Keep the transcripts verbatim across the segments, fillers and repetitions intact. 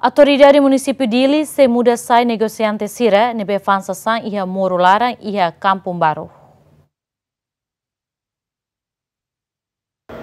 Autoridade Munisípiu Dili sei muda sai negosiante sira ne'ebé fa'an sasán iha moru laran iha Kampung Baru.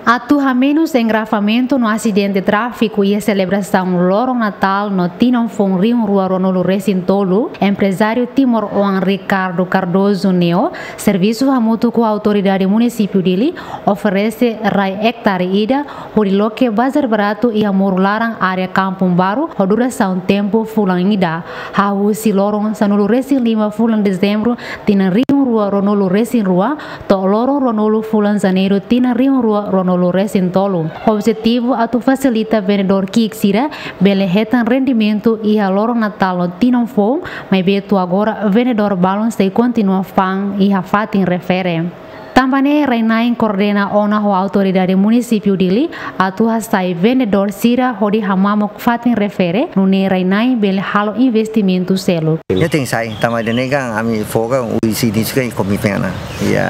Atu hamenus engarrafamentu no asidente tráfiku iha selebrasaun loron Natál no tinan foun rihun rua ruanulu resin tolu, emprezáriu timoroan Ricardo Cardoso Neo servisu hamutuk ho Autoridade Munisípiu Dili oferese rai ektare ida hodi loke bazar baratu iha moru laran área Kampung Baru ho durasaun tempu fulan ida, hahú husi loron sanulu resin lima fulan Dezembru tinan rihun rua ruanulu resin rua to'o loron ruanulu fulan Janeiru tinan rihun rua ruanulu resin tolu. Objetivu atu fasilita vendedór ki'ik sira bele hetan rendimentu iha loron Natál no tinan foun, maibé to'o agora vendedór balun sei kontinua fa'an iha fatin refere. Tanba ne'e rai-na'in koordena ona ho Autoridade Munisípiu Dili atu hasai vendedór sira hodi hamamuk fatin refere, nune'e rai-na'in bele halo investimentu seluk. Ya tenke sai, tanba ida-ne'e kan ami fó kan husi inísiu kan komitmen ona. Ya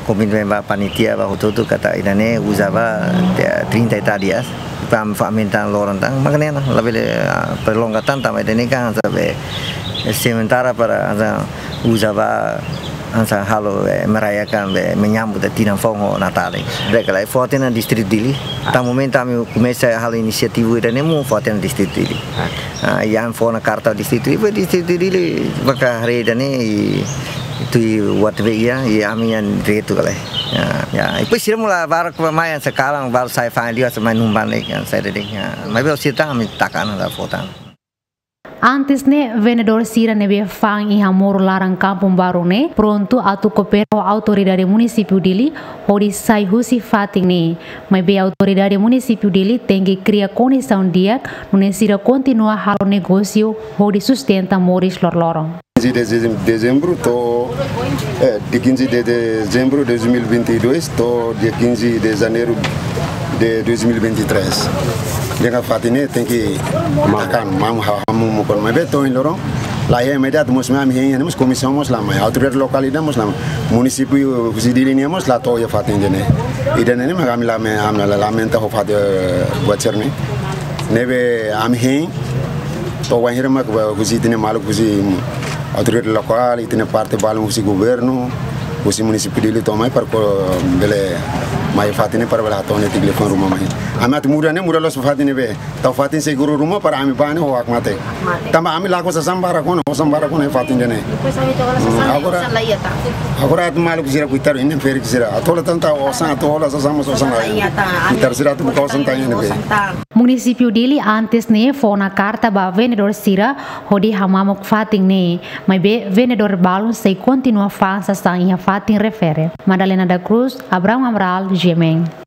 komitmen ba panitia ba hotu-hotu katak ida-ne'e uza ba, ya, trinta e tal dias. Para ami fa'an tan loron tan, mak ne'e ona, labele, ah, prolonga tan, tanba ida-ne'e kan hanesan be sementara para hanesan uza ba hanesan halo, eh, merayakan be menyambut tinan foun ho Natál. Be kala fó tiha ona distritu Dili. Tan momentu ami komesa halo inisiativa ida-ne'e mós fó tiha ona distritu Dili. Ah, iha ami fó ona karta distritu Dili, distritu Dili maka haree ida-ne'e i tuir WhatsApp ya, i ami yang retu kala. Ya, ya. Depois sira mós la barak ba mai sekarang baru sai fa'an liu hanesan mai numban lagi kan sai dede. Ya. Maibé sira tan ami taka ona la fó tan. Antes ne'e, vendedór sira ne'ebé fa'an iha moru laran Kampung Baru ne'e prontu atu koopera ho Autoridade Munisípiu Dili hodi sai husi fatin ne'e. Maibé Autoridade Munisípiu Dili tenke kria kondisaun di'ak nune'e sira kontinua halo negósiu hodi sustenta moris loroloron. Quinze de dezem-, dezembro to'o, eh, dia quinze de dezembro de dois mil e vinte e dois to'o dia quinze de janeiro de dois mil e vinte e três. Dehan fatin ne'e tenke makan, mamu ha-, hamu mukon. Maibé to'o ohin loron, la iha imediatu mós ami hein, mós komisaun mós la mai. Autoridade lokál ida mós la mai. Munisípiu husi Dili nian mós la to'o iha fatin ida-ne'e. Ida-ne'e mak ami lame-, ami la lamenta ho fatin, eh, buat sira-ne'e. Ne'ebé ami hein, to'o wainhira mak ba husi ita-nia maluk husi autoridade lokál, ita-nia parte balun husi governu, husi munisípiu Dili to'o mai para ko bele mai fatin ne'e para bele hato'o netik liafuan ruma mai. Ami atu muda ne'e, muda loos fatin ne'ebé. Tau fatin seguru ruma para ami bá ne'e ho hakmatek. Tanba ami lakon sasán barak ona, osan barak ona fatin ida-ne'e. Depois ami to'o hola sasán, hmm, agora, osan la iha tan. Agora atu maluk sira kuitar inen ferik sira. Atu hola tan tau osan, atu hola sasán mós osan la iha. Osan la iha tan. Kuitar sira atu buka osan tan inen be. Osan tan. Munisípiu Dili antes ne'e fó ona karta ba vendedór sira hodi hamamuk fatin ne'e. Maibé vendedór balun sei kontinua fa'an sasán iha fatin refere. Madalena da Cruz, Abraham Amaral, G M N.